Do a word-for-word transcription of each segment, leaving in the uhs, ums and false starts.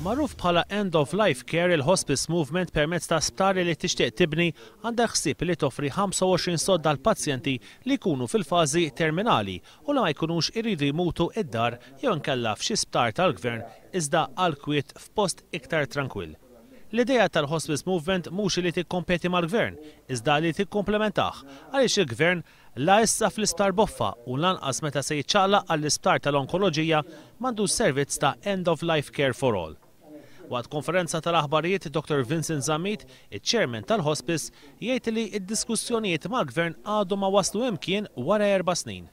Magħruf bħala End of Life Care, il-Hospice Movement permezz ta' sptari li tixtieq tibni għandha ħsieb li toffri ħamsa u għoxrin sodda għal pazjenti li jkunu fil-fażi terminali u li ma jkunux iridu jmutu id-dar jew inkella f'xi sptar tal-gvern, iżda għal kwiet f'post iktar trankwill. L-idea tal-Hospice Movement mhux li tikkompeti mal-gvern, iżda li tikkomplementah, għaliex il-gvern la issa fl-isptar Boffa u lanqas meta se jiċċaqlaq għall-isptar tal-onkoloġija m'għandu servizz ta' End of Life Care for All. Waqt konferenza tal-aħbarijiet, Doctor Vincent Zammit, il-chairman tal-hospice, jgħid li id-diskussjonijiet mal-gvern għadu ma waslu imkien wara erba' snin.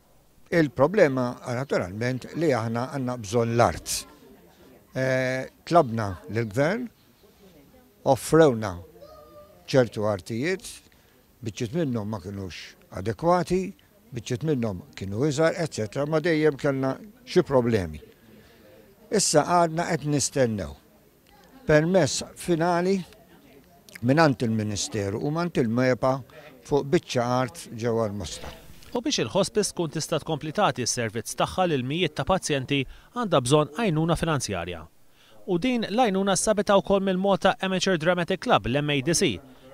Il-problema naturalment li aħna għandna bżonn l-art. E, tlabna l-gvern, offrewna ċertu artijiet, biċċiet minnhom ma kienux adekwati, biċċiet minnhom kienu iżgħar, eċetera, ma dejjem kellna xi problemi. Issa għadna qed nistennew permess finali mingħand il-Ministeru u mingħand il-MEPA fuq biċċa art ġewwa l-Mosta. U biex il-hospice tkun tista' tkompli tagħti s-servizz tagħha lil mijiet ta' pazjenti, għandha bżonn għajnuna finanzjarja. U din l-għajnuna sabitha wkoll mill-Malta Amateur Dramatic Club, l-M A D C,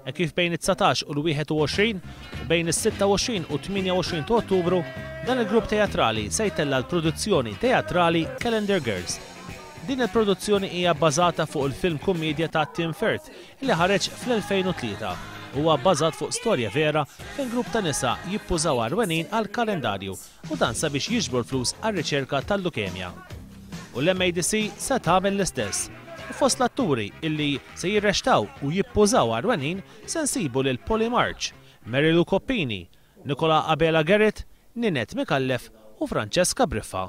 e kif bejn it-dsatax u l-wieħed u għoxrin u bejn is-sitta u għoxrin u tmienja u għoxrin ta' Ottubru dan il-grupp teatrali se jtella l-produzzjoni teatrali Calendar Girls. Din il-produzzjoni hija bbażata fuq il-film kummedja ta' Tim Firth li ħareġ fl-elfejn u tlieta. Huwa bbażat fuq storja vera fejn grupp ta' nisa jippużaw għarwenin għal kalendarju u dan sabiex jiġbru l-flus għar-riċerka tal-lukemja. U l-M A D C se tagħmel l-istess. U fost l-atturi illi se jirreċtaw u jippużaw għarwenin se nsibu lil Polly March, Mary Lou Coppini, Nicola Abela Garrett, Ninette Mikallef u Francesca Briffa.